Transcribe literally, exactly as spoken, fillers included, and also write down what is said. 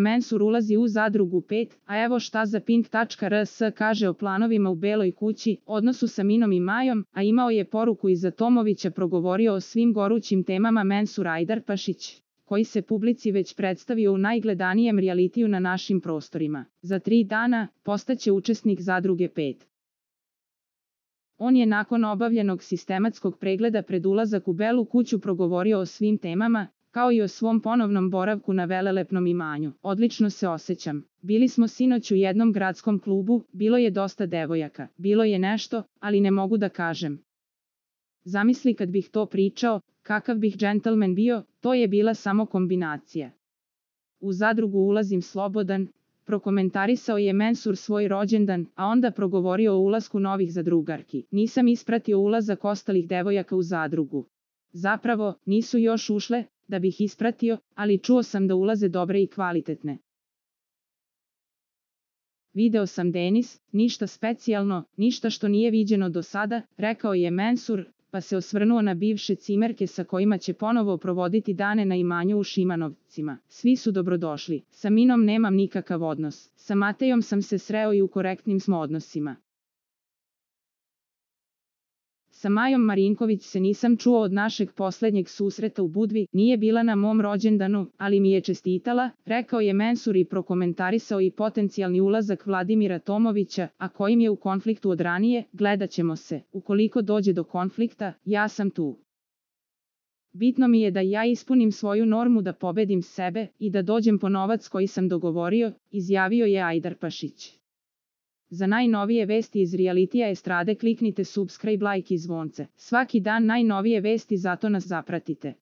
Mensur ulazi u Zadrugu pet, a evo šta za Pink tačka r s kaže o planovima u Beloj kući, odnosu sa Minom i Majom, a imao je poruku iza Tomovića, progovorio o svim gorućim temama Mensur Ajdarpašić, koji se publici već predstavio u najgledanijem realitiju na našim prostorima. Za tri dana postaće učesnik Zadruge pet. On je nakon obavljenog sistematskog pregleda pred ulazak u Belu kuću progovorio o svim temama, kao i o svom ponovnom boravku na velelepnom imanju. Odlično se osjećam. Bili smo sinoć u jednom gradskom klubu, bilo je dosta devojaka. Bilo je nešto, ali ne mogu da kažem. Zamisli kad bih to pričao, kakav bih džentlmen bio, to je bila samo kombinacija. U Zadrugu ulazim slobodan, prokomentarisao je Mensur svoj rođendan, a onda progovorio o ulasku novih zadrugarki. Nisam ispratio ulazak ostalih devojaka u Zadrugu. Zapravo, nisu još ušle, da bih ispratio, ali čuo sam da ulaze dobre i kvalitetne. Video sam Denis, ništa specijalno, ništa što nije viđeno do sada, rekao je Mensur, pa se osvrnuo na bivše cimerke sa kojima će ponovo provoditi dane na imanju u Šimanovcima. Svi su dobrodošli. Sa Minom nemam nikakav odnos. Sa Matejom sam se sreo i u korektnim smo odnosima. Sa Majom Marinković se nisam čuo od našeg posljednjeg susreta u Budvi, nije bila na mom rođendanu, ali mi je čestitala, rekao je Mensur i prokomentarisao i potencijalni ulazak Vladimira Tomovića, a kojim je u konfliktu od ranije. Gledat ćemo se, ukoliko dođe do konflikta, ja sam tu. Bitno mi je da ja ispunim svoju normu, da pobedim sebe i da dođem po novac koji sam dogovorio, izjavio je Ajdarpašić. Za najnovije vesti iz realitija estrade kliknite subscribe, like i zvonce. Svaki dan najnovije vesti, zato nas zapratite.